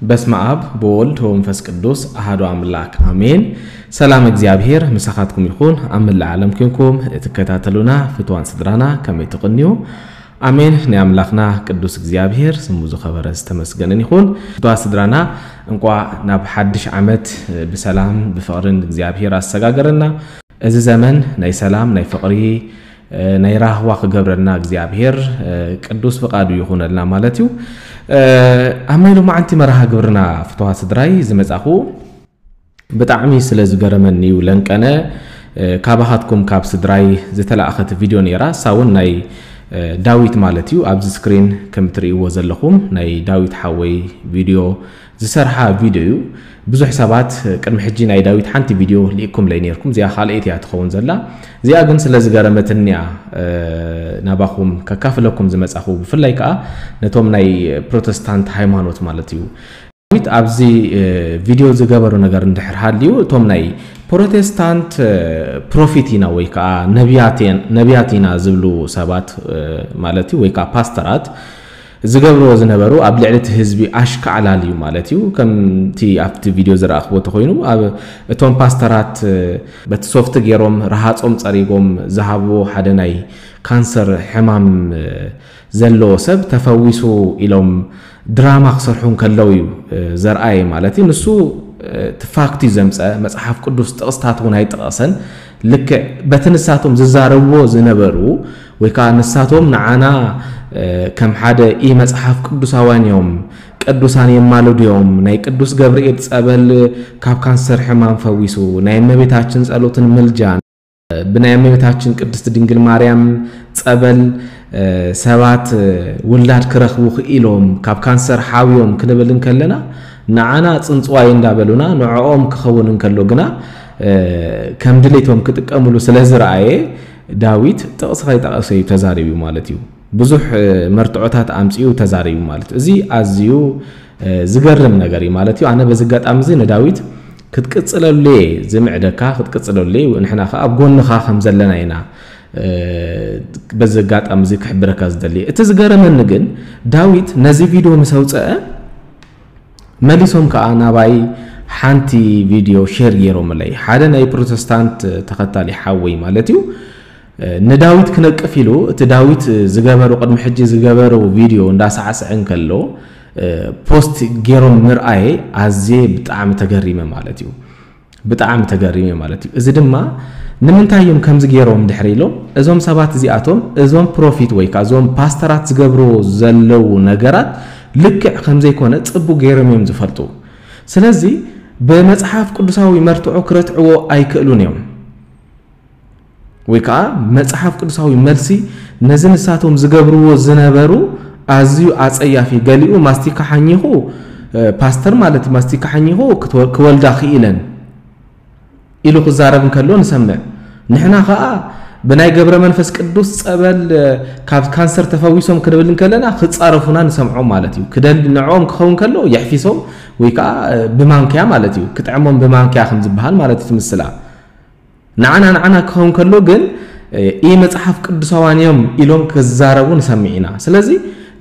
በስመ ኣብ ወወልድ ወመንፈስ ቅዱስ ኣሐዱ ኣምላክ ኣሜን። ሰላም እግዚኣብሔር ምሳኻትኩም ይኹን። ኣብ መላእ ዓለም ኮንኩም እትከታተሉና ፍትዋን ስድራና ከመይ ትቕንዩ? ኣሜን። ናይ ኣምላኽና ቅዱስ እግዚኣብሔር ስሙ ዝኸበረ ዝተመስገነን ይኹን። ፍትዋ ስድራና እንቋ ናብ ሓድሽ ዓመት ብሰላም ብፍቕርን እግዚኣብሔር ኣሰጋገረና። እዚ ዘመን ናይ ሰላም፣ ናይ ፍቕሪ፣ ናይ ራህዋ ክገብረልና እግዚኣብሔር ቅዱስ ፍቓዱ ይኹነልና ማለት እዩ። ኣብ ናይ ሎማዓንቲ መርሃ ግብርና ፍትዋ ስድራይ ዝመጻኹ ብጣዕሚ ስለ ዝገረመኒ እዩ። ለንቀነ ካባኻትኩም ካብ ስድራይ ዝተላእኸት ቪድዮ ነይራ። እሳ እውን ናይ ዳዊት ማለት እዩ። ኣብዚ ስክሪን ከም ትርእይዎ ዘለኹም ናይ ዳዊት ሓወይ ቪድዮ ዝሰርሓ ቪድዮ እዩ። ብዙሕ ሰባት ቅድሚ ሕጂ ናይ ዳዊት ሓንቲ ቪድዮ ልኢኩምለይ ነይርኩም። እዚኣ ካልኣይቲ እያ ትኸውን ዘላ። እዚኣ ግን ስለ ዝገረመትኒ እያ ናባኹም ከካፍለኩም ዝመጻኹ። ብፍላይ ከኣ ነቶም ናይ ፕሮተስታንት ሃይማኖት ማለት እዩ። ዳዊት ኣብዚ ቪድዮ ዝገበሮ ነገር እንድሕር ሃልዩ፣ እቶም ናይ ፕሮቴስታንት ፕሮፊት ኢና ወይ ከኣ ነቢያት ኢና ዝብሉ ሰባት ማለት እዩ ወይ ከኣ ፓስተራት ዝገብርዎ ዝነበሩ ኣብ ልዕሊ እቲ ህዝቢ ኣሽካዕላል እዩ ማለት እዩ። ከምቲ ኣብቲ ቪድዮ ዝረኣኽዎ ተኾይኑ፣ ኣብ እቶም ፓስተራት በቲ ሶፍቲ ገይሮም ረሃጾም ጸሪጎም ዝሃብዎ ሓደ ናይ ካንሰር ሕማም ዘለዎ ሰብ ተፈዊሱ ኢሎም ድራማ ክሰርሑ እንከለዉ እዩ ዘርኣየ ማለት እዩ። ንሱ እቲ ፋክት እዩ ዘምጸ፣ መጽሓፍ ቅዱስ ጥቕስታት እውን ኣይጠቐሰን። ልክዕ በቲ ንሳቶም ዝዛረብዎ ዝነበሩ ወይ ከዓ ንሳቶም ንዓና ከም ሓደ ኢ መጽሓፍ ቅዱሳውያን እዮም፣ ቅዱሳን የማልዱ እዮም፣ ናይ ቅዱስ ገብርኤል ጸበል ካብ ካንሰር ሕማም ፈዊሱ፣ ናይ እመቤታችን ጸሎትን ምልጃን ብናይ እመቤታችን ቅድስት ድንግል ማርያም ጸበል ሰባት ውላድ ክረኽቡ ክኢሎም ካብ ካንሰር ሓውዮም ክንብል እንከለና ንዓና ጽንጽዋይ እንዳበሉና ንዕኦም ክኸውን እንከሎ ግና ከም ድሌቶም ክጥቀምሉ ስለ ዝረኣየ ዳዊት ጥቕሲ ከይጠቐሰ እዩ ተዛሪቡ ማለት እዩ። ብዙሕ መርትዖታት ኣምጺኡ ተዛሪቡ ማለት እዩ። እዚ ኣዝዩ ዝገርም ነገር እዩ ማለት እዩ። ኣነ በዚ ኣጋጣሚ እዚ ንዳዊት ክትቅጽለሉ እየ ዝምዕደካ፣ ክትቅጽለሉ እየ። ንሕና ከኣ ኣብ ጎንኻ ከም ዘለና ኢና በዚ ኣጋጣሚ እዚ ክሕብረካ ዝደሊ። እቲ ዝገረመኒ ግን ዳዊት ነዚ ቪድዮ ምስ ኣውጸአ መሊሶም ከኣ ናባይ ሓንቲ ቪድዮ ሼር ገይሮምለይ። ሓደ ናይ ፕሮተስታንት ተኸታሊ ሓወይ ማለት እዩ። ንዳዊት ክነቅፍ ኢሉ እቲ ዳዊት ዝገበሩ ቅድሚ ሕጂ ዝገበሩ ቪድዮ እንዳሳዕስዐ እንከሎ ፖስት ገይሮም ምርኣየ ኣዝየ ብጣዕሚ ተገሪመ ማለት እዩ። ብጣዕሚ ተገሪመ ማለት እዩ። እዚ ድማ ንምንታይ እዮም ከምዚ ገይሮም ድሕሪ ኢሎም እዞም ሰባት እዚኣቶም እዞም ፕሮፊት ወይ ከዓ እዞም ፓስተራት ዝገብርዎ ዘለዉ ነገራት ልክዕ ከምዘይኮነ ጽቡቅ ገይሮም እዮም ዝፈልጡ። ስለዚ ብመጽሓፍ ቅዱሳዊ መርትዖ ክረትዕዎ ኣይክእሉን እዮም። ወይ ከዓ መጽሓፍ ቅዱሳዊ መልሲ ነዚ ንሳቶም ዝገብርዎ ዝነበሩ ኣዝዩ ኣጸያፊ፣ ገሊኡ ማስቲካ ሓኚኹ ፓስተር ማለት ማስቲካ ሓኚኹ ክወልዳ ክኢለን ኢሉ ክዛረብ እንከሎ ንሰምዕ። ንሕና ከዓ ብናይ ገብረ መንፈስ ቅዱስ ጸበል ካብ ካንሰር ተፈዊሶም ክንብል እንከለና ክጻረፉና ንሰምዖም ማለት እዩ። ክደል ንዕኦም ክኸውን ከሎ የሕፊሶም ወይ ከዓ ብማንክያ ማለት እዩ ክጥዕሞም ብማንክያ ከም ዝበሃል ማለት እዩ ትምስላ። ንዓና ንዓና ክኸውን ከሎ ግን ኢ መጽሓፍ ቅዱሳውያን እዮም ኢሎም ክዛረቡ ንሰምዕ ኢና። ስለዚ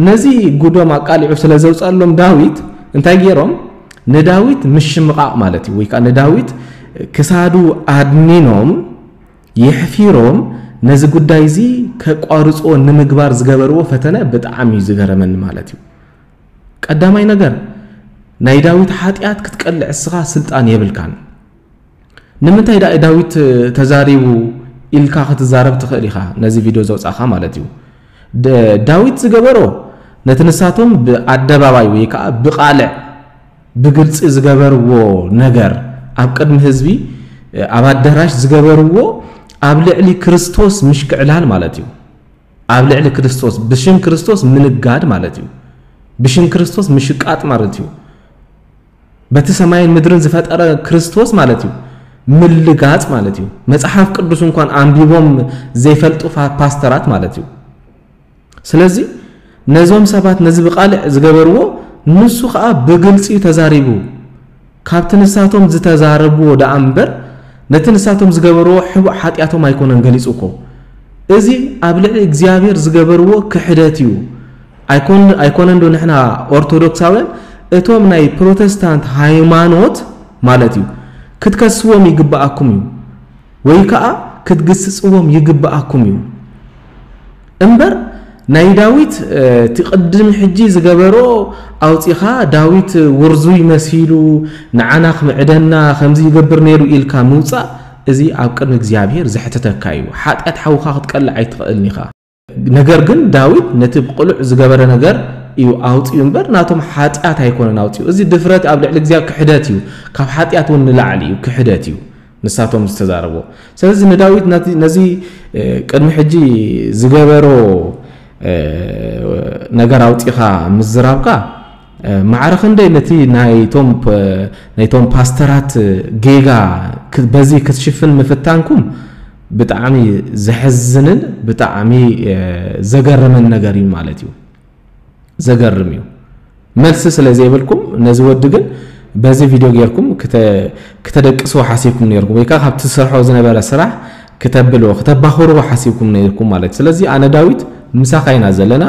ነዚ ጉዶም ኣቃሊዑ ስለ ዘውፅኣሎም ዳዊት እንታይ ገይሮም ንዳዊት ምሽምቓቕ ማለት እዩ ወይ ከዓ ንዳዊት ክሳዱ ኣድኒኖም የሕፊሮም ነዚ ጉዳይ እዚ ከቋርፅዎ ንምግባር ዝገበርዎ ፈተነ ብጣዕሚ እዩ ዝገረመኒ ማለት እዩ። ቀዳማይ ነገር ናይ ዳዊት ሓጢኣት ክትቀልዕ እስኻ ስልጣን የብልካን። ንምንታይ ዳ ዳዊት ተዛሪቡ ኢልካ ክትዛረብ ትኽእል ኢኻ፣ ነዚ ቪድዮ ዘውጻእኻ ማለት እዩ። ዳዊት ዝገበሮ ነቲ ንሳቶም ብኣደባባይ ወይ ከዓ ብቓልዕ ብግልጺ ዝገበርዎ ነገር ኣብ ቅድሚ ህዝቢ ኣብ ኣዳራሽ ዝገበርዎ ኣብ ልዕሊ ክርስቶስ ምሽክዕላል ማለት እዩ። ኣብ ልዕሊ ክርስቶስ ብሽም ክርስቶስ ምንጋድ ማለት እዩ። ብሽም ክርስቶስ ምሽቃጥ ማለት እዩ። በቲ ሰማይን ምድርን ዝፈጠረ ክርስቶስ ማለት እዩ። ምልጋጽ ማለት እዩ። መጽሓፍ ቅዱስ እንኳን ኣንቢቦም ዘይፈልጡ ፓስተራት ማለት እዩ። ስለዚ ነዞም ሰባት ነዚ ብቓልዕ ዝገበርዎ ንሱ ኸኣ ብግልጺ እዩ ተዛሪቡ። ካብቲ ንሳቶም ዝተዛረብዎ ደኣ እምበር ነቲ ንሳቶም ዝገበርዎ ሕቡእ ሓጢኣቶም ኣይኮነን ገሊጹ እኮ። እዚ ኣብ ልዕሊ እግዚኣብሔር ዝገበርዎ ክሕደት እዩ። ኣይኮን ኣይኮነን ዶ ንሕና ኦርቶዶክሳውያን እቶም ናይ ፕሮቴስታንት ሃይማኖት ማለት እዩ ክትከስዎም ይግብኣኩም እዩ፣ ወይ ከዓ ክትግስፅዎም ይግብኣኩም እዩ። እምበር ናይ ዳዊት እቲ ቅድም ሕጂ ዝገበሮ ኣውፂኻ፣ ዳዊት ውርዙይ መሲሉ ንዓና ክምዕደና ከምዚ ይገብር ነይሩ ኢልካ ምውፃእ፣ እዚ ኣብ ቅድሚ እግዚኣብሔር ዘሕትተካ እዩ። ሓጢኣት ሓውካ ክትቀልዕ ኣይትኽእልን ኢኻ። ነገር ግን ዳዊት ነቲ ብቕሉዕ ዝገበረ ነገር እዩ ኣውፂኡ እምበር ናቶም ሓጢኣት ኣይኮነን ኣውፂኡ። እዚ ድፍረት ኣብ ልዕሊ እግዚኣብሔር ክሕደት እዩ። ካብ ሓጢኣት እውን ንላዕሊ እዩ፣ ክሕደት እዩ ንሳቶም ዝተዛረቦ። ስለዚ ንዳዊት ነዚ ቅድሚ ሕጂ ዝገበሮ ነገር ኣውፂኻ ምዝራብካ፣ ማዕረ ክንደይ ነቲ ናይቶም ፓስተራት ጌጋ በዚ ክትሽፍን ምፍታንኩም ብጣዕሚ ዘሕዝንን ብጣዕሚ ዘገርምን ነገር እዩ ማለት እዩ። ዘገርም እዩ። መልሲ ስለ ዘይብልኩም ነዚ ወዲ ግን በዚ ቪድዮ ጌርኩም ክተደቅስዎ ሓሲብኩም ነርኩም፣ ወይ ከዓ ካብቲ ዝሰርሖ ዝነበረ ስራሕ ክተብልዎ ክተባኽርዎ ሓሲብኩም ነርኩም ማለት እዩ። ስለዚ ኣነ ዳዊት ምሳኻ ኢና ዘለና።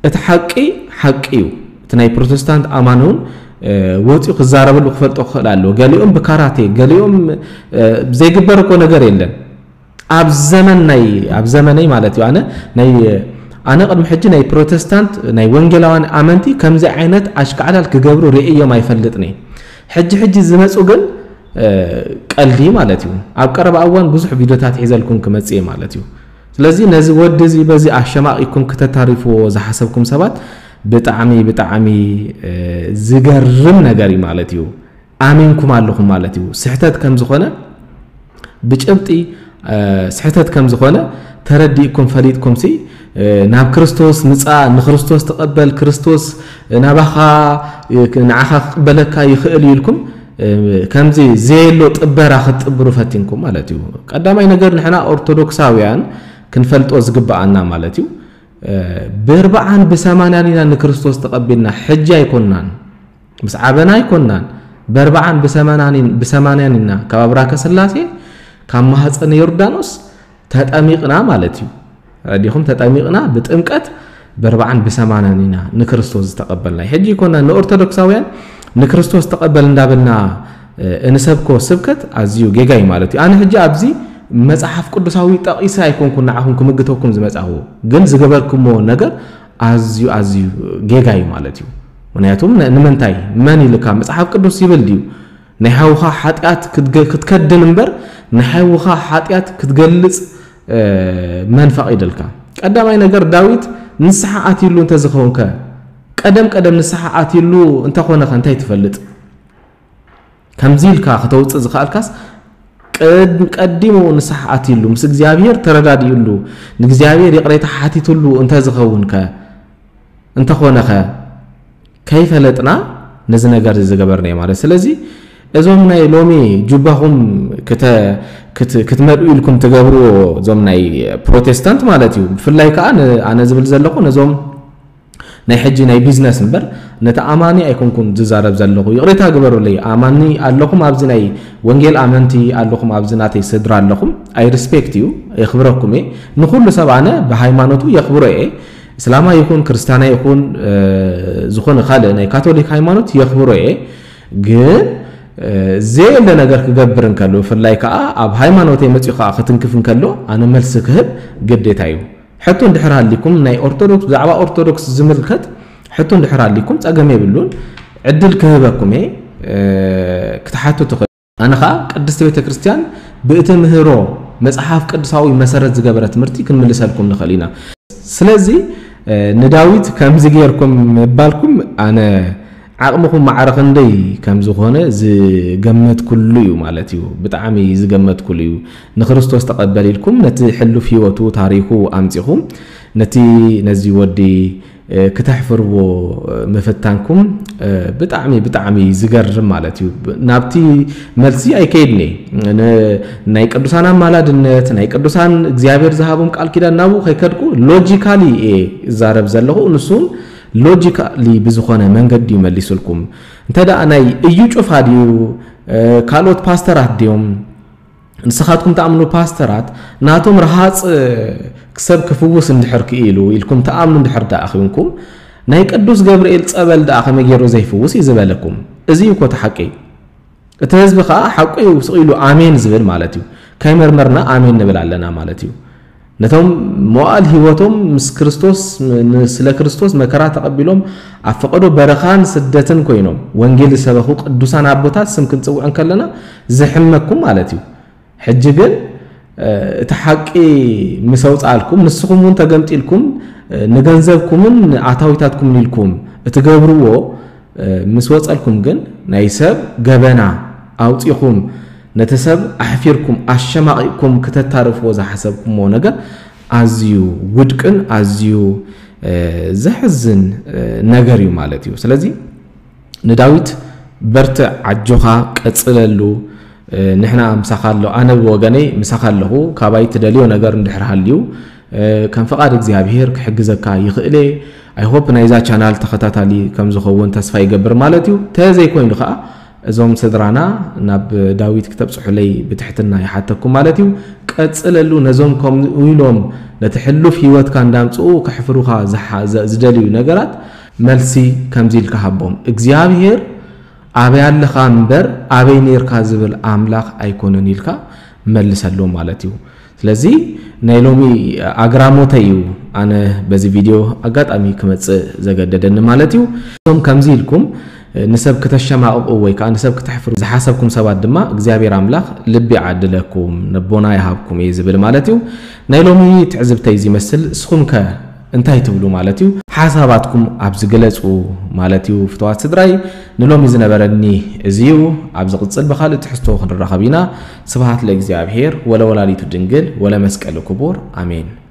እቲ ሓቂ ሓቂ እዩ። እቲ ናይ ፕሮቴስታንት ኣማኒ እውን ወፂኡ ክዛረበሉ ክፈልጦ ክኽእል ኣለዎ። ገሊኦም ብካራቴ፣ ገሊኦም ዘይግበር እኮ ነገር የለን። ኣብ ዘመን ናይ ኣብ ዘመነይ ማለት እዩ። ኣነ ናይ ኣነ ቅድሚ ሕጂ ናይ ፕሮቴስታንት ናይ ወንጌላውያን ኣመንቲ ከምዚ ዓይነት ኣሽካዕላል ክገብሩ ርእዮም ኣይፈልጥን እየ። ሕጂ ሕጂ ዝመፁ ግን ቀልዲ ማለት እዩ። ኣብ ቀረባ እዋን ብዙሕ ቪድዮታት ሒዘልኩም ክመፅእ እየ ማለት እዩ። ስለዚ ነዚ ወዲ እዚ በዚ ኣሸማቂኩም ክተታሪፍዎ ዝሓሰብኩም ሰባት ብጣዕሚ ብጣዕሚ ዝገርም ነገር እዩ ማለት እዩ። ኣሚንኩም ኣለኹም ማለት እዩ። ስሕተት ከም ዝኾነ ብጭብጢ ስሕተት ከም ዝኾነ ተረዲእኩም ፈሊጥኩም ሲ ናብ ክርስቶስ ምጻእ፣ ንክርስቶስ ተቐበል፣ ክርስቶስ ናባኻ ንዓኻ ክቕበለካ ይኽእል እዩ ኢልኩም ከምዚ ዘየሎ ጥበራ ክትጥብሩ ፈቲንኩም ማለት እዩ። ቀዳማይ ነገር ንሕና ኦርቶዶክሳውያን ክንፈልጦ ዝግብኣና ማለት እዩ። ብእርብዓን ብሰማንያን ኢና ንክርስቶስ ተቐቢልና፣ ሕጂ ኣይኮንናን። ምስ ዓበና ኣይኮንናን። በርብዓን ብሰማናኒን ብሰማንያን ኢና ካብ ኣብራከ ስላሴ ካብ ማህፀነ ዮርዳኖስ ተጠሚቕና ማለት እዩ። ረዲኹም ተጠሚቕና ብጥምቀት በርብዓን ብሰማንያን ኢና ንክርስቶስ ዝተቐበልና። ሕጂ ይኮና ንኦርቶዶክሳውያን ንክርስቶስ ተቐበል እንዳበልና እንሰብኮ ስብከት ኣዝዩ ጌጋ እዩ ማለት እዩ። ኣነ ሕጂ ኣብዚ መጽሓፍ ቅዱሳዊ ጠቒሰ ኣይኮንኩን ንዓኹም ክምግተኩም ዝመጻኹ፣ ግን ዝገበርኩሞ ነገር ኣዝዩ ኣዝዩ ጌጋ እዩ ማለት እዩ። ምክንያቱም ንምንታይ መን ኢልካ መጽሓፍ ቅዱስ ይብል ድዩ ናይ ሓውኻ ሓጢኣት ክትከድን እምበር ናይ ሓውኻ ሓጢኣት ክትገልጽ መን ፈቒደልካ? ቀዳማይ ነገር ዳዊት ንስሓ ኣትይሉ እንተዝኸውንከ ቀደም ቀደም ንስሓ ኣትይሉ እንተኾነኸ እንታይ ትፈልጥ? ከምዚ ኢልካ ከተውፅእ ዝኽኣልካስ ቀዲሙ ንስሓ ኣትይሉ ምስ እግዚኣብሔር ተረዳዲኡሉ ንእግዚኣብሔር ይቕሬታ ሓቲትሉ እንተዝኸውንከ እንተኾነኸ ከይፈለጥና ነዚ ነገር እዚ ዝገበርናዮ ማለት። ስለዚ እዞም ናይ ሎሚ ጁባኹም ክትመልኡ ኢልኩም ትገብርዎ እዞም ናይ ፕሮቴስታንት ማለት እዩ። ብፍላይ ከዓ ኣነ ዝብል ዘለኹ ነዞም ናይ ሕጂ ናይ ቢዝነስ እምበር ነቲ ኣማኒ ኣይኮንኩን ዝዛረብ ዘለኹ። ይቕሬታ ግበሩለይ። ኣማኒ ኣለኹም ኣብዚ ናይ ወንጌል ኣመንቲ ኣለኹም ኣብዚ ናተይ ስድራ ኣለኹም። ኣይ ሪስፔክት እዩ የኽብረኩም እየ። ንኹሉ ሰብ ኣነ ብሃይማኖቱ የኽብሮ እየ። እስላማ ይኹን ክርስቲያና ይኹን ዝኾነ ካልእ ናይ ካቶሊክ ሃይማኖት የኽብሮ እየ። ግን ዘየለ ነገር ክገብር እንከሎ ብፍላይ ከዓ ኣብ ሃይማኖተይ መፂኡ ከዓ ክትንክፍ እንከሎ ኣነ መልሲ ክህብ ግዴታ እዩ። ሕቶ እንድሕር ሃሊኩም ናይ ኦርቶዶክስ ብዛዕባ ኦርቶዶክስ ዝምልከት ሕቶ እንድሕር ሃሊኩም ፀገም የብሉን። ዕድል ክህበኩም እየ ክትሓቱ ትኽእል። ኣነ ከዓ ቅድስቲ ቤተ ክርስቲያን ብእትምህሮ መፅሓፍ ቅዱሳዊ መሰረት ዝገበረ ትምህርቲ ክንምልሰልኩም ንኽእል ኢና። ስለዚ ንዳዊት ከምዚ ገይርኩም ምባልኩም ኣነ ዓቕምኹም ማዕረ ክንደይ ከም ዝኾነ ዝገመትኩሉ እዩ ማለት እዩ። ብጣዕሚ ዝገመትኩሉ እዩ። ንክርስቶስ ተቐበል ኢልኩም ነቲ ሕሉፍ ህይወቱ ታሪኹ ኣምፂኹም ነቲ ነዚ ወዲ ክተሕፍርዎ ምፍታንኩም ብጣዕሚ ብጣዕሚ ዝገርም ማለት እዩ። ናብቲ መልሲ ኣይከይድን እየ። ናይ ቅዱሳን ኣማላድነት ናይ ቅዱሳን እግዚኣብሔር ዝሃቦም ቃል ኪዳን ናብኡ ከይከድኩ ሎጂካሊ እየ እዛረብ ዘለኹ። ንሱን ሎጂካሊ ብዝኾነ መንገዲ እዩ መሊሱልኩም። እንተ ደኣ ናይ እዩ ጩፋ ድዩ ካልኦት ፓስተራት ድዮም ንስኻትኩም ትኣምኑ ፓስተራት ናቶም ረሃፅ ክሰብ ክፍውስ እንድሕር ክኢሉ ኢልኩም ትኣምኑ እንድሕር ደኣ ኺንኩም ናይ ቅዱስ ገብርኤል ጸበል ደኣ ከመይ ገይሩ ዘይፍውስ እዩ ዝበለኩም። እዚ እዩ እኮ እቲ ሓቂ። እቲ ህዝቢ ከዓ ሓቁ እዩ ስቕ ኢሉ ኣሜን ዝብል ማለት እዩ። ከይመርመርና ኣሜን ንብል ኣለና ማለት እዩ። ነቶም መዋእል ህይወቶም ምስ ክርስቶስ፣ ን-፣ ስለ ክርስቶስ መከራ ተቐቢሎም ኣብ ፈቐዶ በረኻን ስደትን ኮይኖም ወንጌል ዝሰበኹ ቅዱሳን ኣቦታት ስም ክንጽውዕ እንከለና ዝሕመኩም ማለት እዩ። ሕጂ ግን፣ እ፣ እቲ ሓቂ ምስ ኣውጻልኩም፣ ንስኹም እውን ተገምጢልኩም፣ እ፣ ንገንዘብኩምን ንኣታዊታትኩምን ኢልኩም እትገብርዎ፣ እ፣ ምስ ወጸልኩም ግን ናይ ሰብ ገበና ኣውጺኹም ነቲ ሰብ ኣሕፊርኩም ኣሸማቒቕኩም ክተታርፍዎ ዝሓሰብኩምዎ ነገር ኣዝዩ ውድቅን ኣዝዩ፣ እ፣ ዘሕዝን፣ እ፣ ነገር እዩ ማለት እዩ። ስለዚ ንዳዊት በርትዕ፣ ኣጆኻ፣ ቀጽለሉ፣ እ፣ ንሕና ምሳኻ ኣሎ፣ ኣነ ብወገነይ ምሳኻ ኣለኹ። ካባይ ትደልዮ ነገር እንድሕር ሃልዩ፣ እ፣ ከም ፍቓድ እግዚኣብሄር ክሕግዘካ ይኽእል እየ። I hope ናይዛ ቻናል ተኸታታሊ ከም ዝኸውን ተስፋ ይገብር ማለት እዩ። ተዘይኮይኑ ከዓ እዞም ስድራና ናብ ዳዊት ክተብጽሑለይ ብትሕትና ይሓተኩም ማለት እዩ። ቀጽለሉ። ነዞም ከምኡ ኢሎም ነቲ ሕሉፍ ህይወትካ እንዳምጽኡ ከሕፍሩኻ ዝሓ-፣ ዘ-፣ ዝደልዩ ነገራት መልሲ ከምዚ ኢልካ ሃቦም። እግዚኣብሄር ኣበይ ኣለኻ እምበር ኣበይ ኔርካ ዝብል ኣምላኽ ኣይኮነን ኢልካ መልሰሎም ማለት እዩ። ስለዚ ናይ ሎሚ ኣግራሞተይ እዩ ኣነ በዚ ቪድዮ ኣጋጣሚ ክመጽእ ዘገደደኒ ማለት እዩ። እዞም ከምዚ ኢልኩም ንሰብ ክተሸማቕቑ ወይ ከዓ ንሰብ ክተሕፍሩ ዝሓሰብኩም ሰባት ድማ እግዚኣብሔር ኣምላኽ ልቢ ይዓድለኩም፣ ነቦና ይሃብኩም እየ ዝብል ማለት እዩ። ናይ ሎሚ ትዕዝብተይ እዚ ይመስል። ንስኹም ከ እንታይ ትብሉ ማለት እዩ? ሓሳባትኩም ኣብዚ ግለጹ ማለት እዩ። ፍትዋት ስድራይ፣ ንሎሚ ዝነበረኒ እዚ እዩ። ኣብ ዝቕጽል ብኻልእ ትሕዝቶ ክንራኸብ ኢና። ስብሃት ለእግዚኣብሔር ወለወላዲቱ ድንግል ወለመስቀሉ ክቡር። ኣሜን።